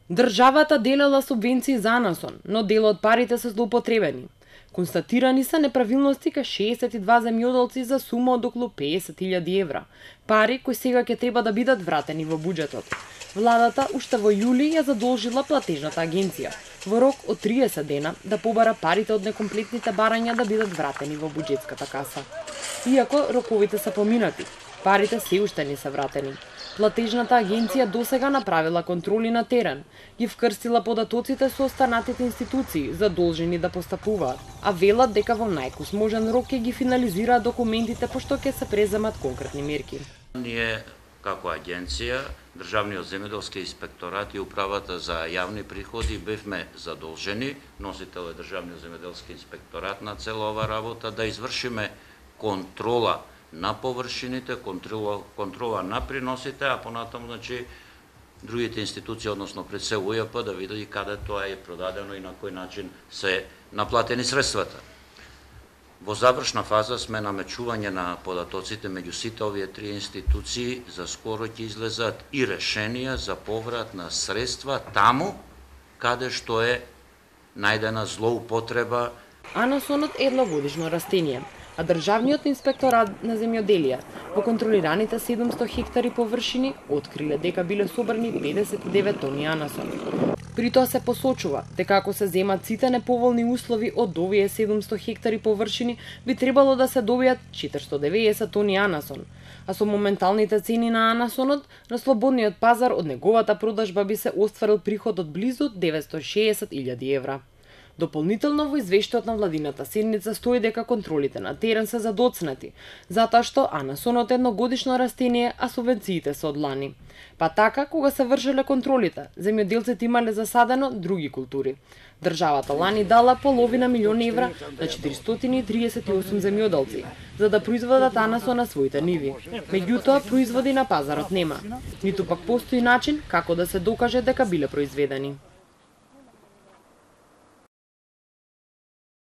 Државата делела субвенции за Анасон, но дел од парите се злоупотребени. Констатирани се неправилности кај 62 земјоделци за сума од околу 50.000 евра, пари кои сега ќе треба да бидат вратени во буџетот. Владата уште во јули ја задолжила платежната агенција во рок од 30 дена да побара парите од некомплетните барања да бидат вратени во буџетската каса. Иако роковите се поминати, парите се уште не се вратени. Платежната агенција досега направила контроли на терен, ги вкрстила податоците со останатите институции задолжени да постапуваат, а велат дека во најкусможен рок ќе ги финализираат документите пошто ќе се преземат конкретни мерки. Ние како агенција, Државниот земјоделски инспекторат и управата за јавни приходи бевме задолжени, носител е Државниот земјоделски инспекторат на цела ова работа, да извршиме контрола на површините, контрола на приносите, а понатаму другите институции, односно пред се УЈП, да види каде тоа е продадено и на кој начин се наплатени средствата. Во завршна фаза сме на мечување на податоците меѓу сите овие три институции, за скоро ќе излезат и решенија за поврат на средства таму каде што е најдена злоупотреба. Анасонот е едногодишно растение, а Државниот инспекторат на земјоделие во контролираните 700 хектари површини откриле дека биле собрани 59 тони анасон. При тоа се посочува дека ако се земат сите неповолни услови од овие 700 хектари површини, би требало да се добијат 490 тони анасон, а со моменталните цени на анасонот на слободниот пазар од неговата продажба би се остварил приход од близу 960.000 евра. Дополнително во извештајот на владината седница стои дека контролите на терен се задоцнати, затоа што анасонот е едногодишно растение, а субвенциите се од лани. Па така, кога се вршеле контролите, земјоделците имале засадено други култури. Државата лани дала половина милион евра на 438 земјоделци, за да произведат анасон на своите ниви. Меѓутоа, производи на пазарот нема, ниту пак постои начин како да се докаже дека биле произведени.